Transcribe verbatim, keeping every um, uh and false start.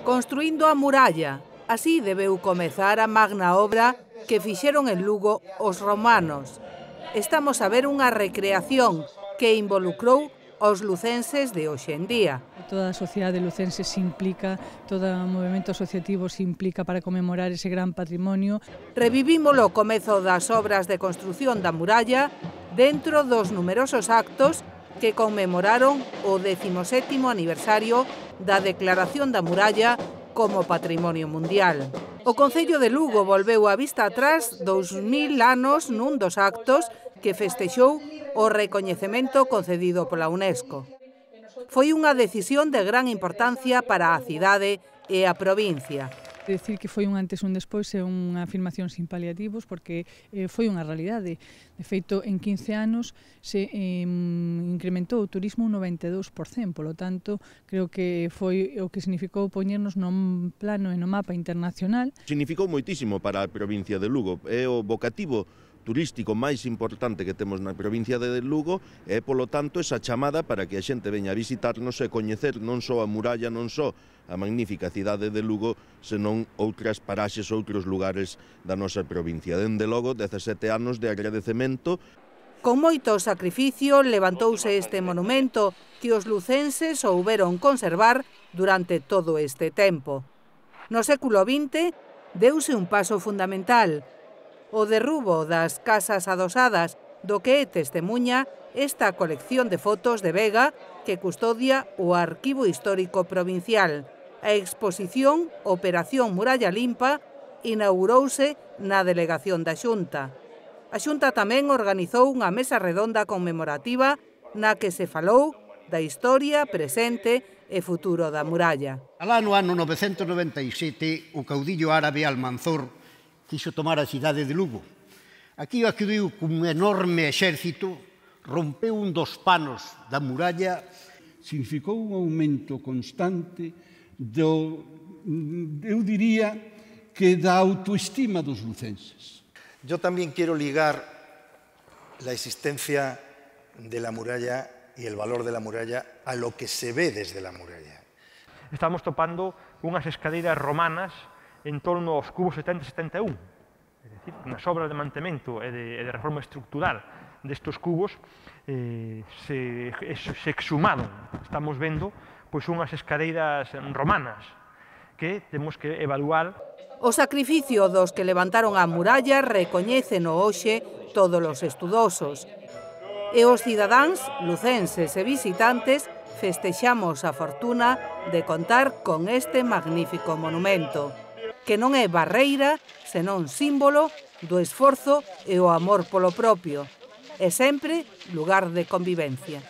Construindo a muralla, así debeu comezar a magna obra que fixeron en Lugo os romanos. Estamos a ver unha recreación que involucrou aos lucenses de hoxe en día. Toda a sociedade lucense se implica, todo o movimento asociativo se implica para conmemorar ese gran patrimonio. Revivimos o comezo das obras de construción da muralla dentro dos numerosos actos que conmemoraron o décimo sétimo aniversario da declaración da muralla como Patrimonio Mundial. O Concello de Lugo volveu a vista atrás dous mil anos nun dos actos que festexou o recoñecemento concedido pola UNESCO. Foi unha decisión de gran importancia para a cidade e a provincia. Decir que foi un antes e un despois é unha afirmación sin paliativos porque eh, foi unha realidade. De feito, en quince anos se eh, incrementou o turismo un noventa e dous por cento, polo tanto, creo que foi o que significou poñernos no plano e no mapa internacional. Significou moitísimo para a provincia de Lugo, é o vocativo turístico máis importante que temos na provincia de Lugo e, polo tanto, esa chamada para que a xente veña a visitarnos e coñecer non só a muralla, non só a magnífica cidade de Lugo, senón outras paraxes, outros lugares da nosa provincia. Dende logo, dezasete anos de agradecemento. Con moito sacrificio levantouse este monumento que os lucenses souberon conservar durante todo este tempo. No século vinte deuse un paso fundamental, o derrubo das casas adosadas, do que é testemuña esta colección de fotos de Vega que custodia o Arquivo Histórico Provincial. A exposición Operación Muralla Limpa inaugurouse na delegación da Xunta. A Xunta tamén organizou unha mesa redonda conmemorativa na que se falou da historia, presente e futuro da muralla. Alá no ano novecentos noventa e sete, o caudillo árabe Almanzor quixo tomar a cidade de Lugo. Aquí acudiu cun enorme exército, rompeu un dos panos da muralla. Significou un aumento constante do, eu diría, que da autoestima dos lucenses. Yo también quiero ligar la existencia de la muralla y el valor de la muralla a lo que se ve desde la muralla. Estamos topando unhas escadeiras romanas en torno aos cubos setenta e setenta e un. É dicir, nas obras de mantemento e de, e de reforma estructural destes cubos eh, se, se exhumaron. Estamos vendo pois, unhas escadeiras romanas que temos que evaluar. O sacrificio dos que levantaron a muralla recoñéceno hoxe todos os estudosos. E os cidadáns, lucenses e visitantes festexamos a fortuna de contar con este magnífico monumento, que non é barreira, senón símbolo do esforzo e o amor polo propio, e sempre lugar de convivencia.